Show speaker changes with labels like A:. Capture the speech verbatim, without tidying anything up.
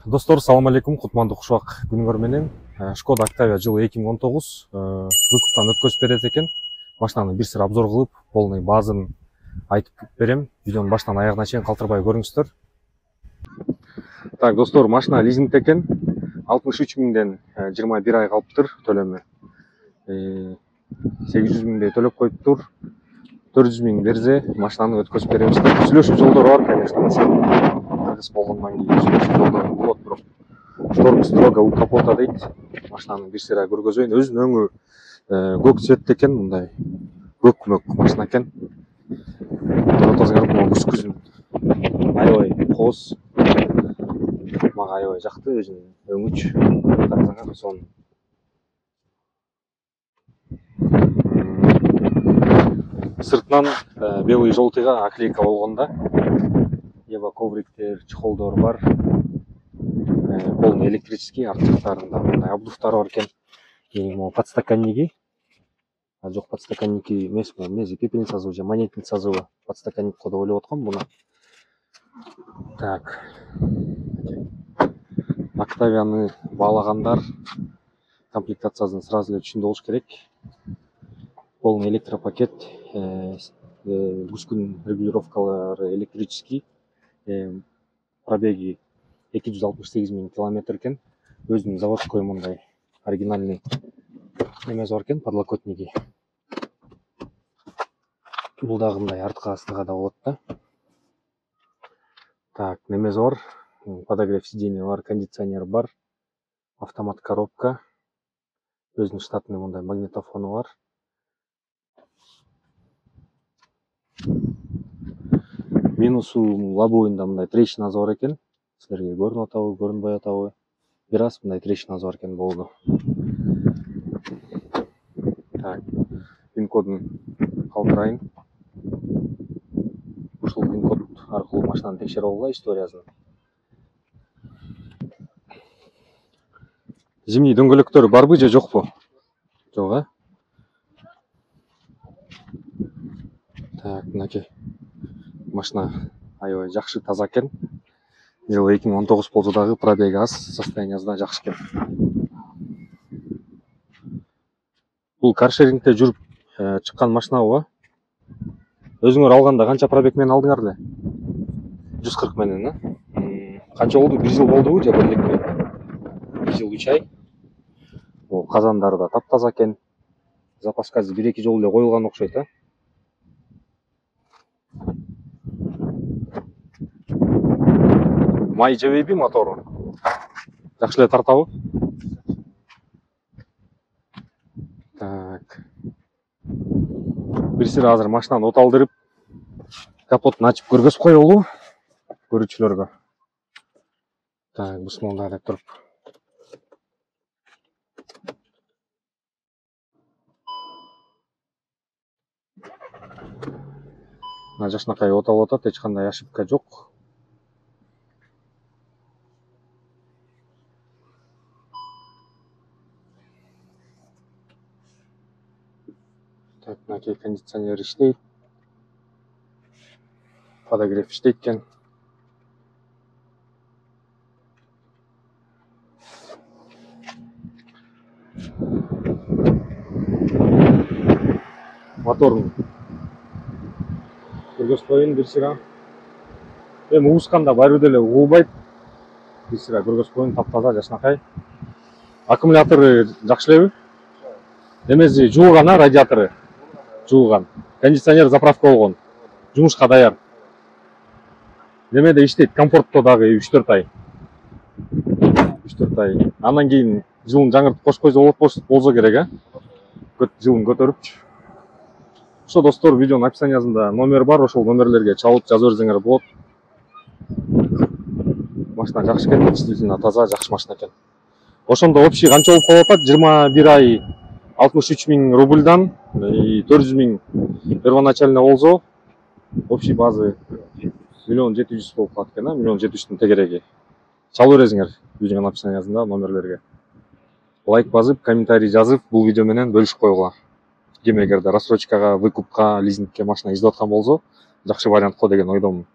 A: Достор, салам алейкум, кутмандуу кушубак күнүңөр менен. Шкода Октавия жылы эки миң он тогуз выкуптан өткөзүп берет экен. Машинаны бир сыр обзор кылып, полный баазын айтып берем. Видеону баштан аягына чейин калтырбай көрүңүздөр. Так, достор, машина лизингде экен. алтымыш үч миңден жыйырма бир ай калыптыр төлөмү. сегиз жүз миңдей төлөп коюптур. төрт жүз миң берсе, машинаны өткөзүп беребиз. Сүйлөшүү жолдору бар, конечно. Кыргыз болгондон кийин сүйлөшүү жолдору болот, бирок шторм строго у капота дейт. Машинаны бир сыйра көргөзөйүн. Өзүнүн өңү көк цветте экен, мындай көк мөк машина экен. Көрүп атасыңар, могу күз-күзүн аябай кооз. Мага аябай жакты өзүнүн өңүч. Карасаңар, сонун. Сыртынан белый желтыйга оклейка болгон да. Ева ковриктер, чехолдор бар. Полный электрический, арт жактарында мындай обдувтары бар экен. Могу подстаканники. А жок, подстаканники эмес, эмнеси пепельница созу же монетница созу. Подстаканник го деп ойлоп аткам буну. Так. Октавияны баалагандар комплектациясын сразу эле түшүндү болуш керек. Полный электропакет, күзгүн регулировкалары электрический, пробеги эки жүз алтымыш сегиз миң километр экен. Өзүнүн заводской мындай оригинальный немеси бар экен, подлокотники. Бул дагы мындай артка астыга да болот да. Так, немеси бар, подогрев сиденья бар, кондиционер бар, автомат коробка, өзүнүн штатный мындай магнитофону бар. Минусу лобовойунда мындай трещинасы бар экен. Силерге көрүнүп атабы, көрүнбөй атабы. Бир аз мындай трещинасы бар экен болду. Так, пин кодун калтырайын. Ушул пин код аркылуу машинаны текшере алгыла, историясын. Зимний дөңгөлөктөрү барбы же жокпу? Жок, а? Так, мынакей. Машина аябай жакшы, таза экен. Жылы эки миң он тогуз болсо дагы пробеги аз, состояниясы да жакшы экен. Бул каршерингде жүрүп чыккан машинабы? Өзүңөр алганда канча пробег менен алдыңар эле? жүз кырк менен, а? Канча болду? бир жыл болдубу же бир элекпи? бир жыл үч ай. Бул казандары да таптаза экен. Запаска бир эки жолу эле коюлган окшойт, а? Май жебейби мотору? Жакшы эле тартабы? Так. Бир сыйра азыр машинаны оталдырып, капотун ачып көргөзүп коелу көрүүчүлөргө. Так, бисмилла деп туруп. Мына жакшынакай оталып атат, эч кандай ошибка жок. Так, мынакей кондиционер иштейт. Подогрев иштейт экен. Моторун көргөзүп коеюн бир сыйра. Эми угусканда баары деле угулбайт. Бир сыйра көргөзүп коеюн, таптаза, жакшынакай. Аккумулятору жакшы элеби? Немеси жуулган, а, радиатору? Жуулган. Кондиционер заправка болгон. Жумушка даяр. Немеде иштейт, комфортто дагы үч төрт ай. үч төрт ай. Андан кийин жылын жаңыртып кошуп койсо болот болсо керек, а? Жылын көтөрүпчү. Ошо достор, видеонун описаниясында номер бар, ошол номерлерге чалып жазып берсеңер болот. Машина жакшы экен, действительно таза, жакшы машина экен. Ошондо общий канча болуп калып атат? жыйырма бир ай алтымыш үч миң рубльдан төрт жүз миң первоначально болсо, общий базы миллион жети жүз болуп калат экен, а? миллион жети жүздүн тегереги. Чалып бересиңер видеонун описаниясында номерлерге. Лайк басып, комментарий жазып, бул видео менен бөлүшүп койгула. Ким эгерде рассрочкага, выкупка, лизингке машина издеп аткан болсо, жакшы вариант го деген ойдомун.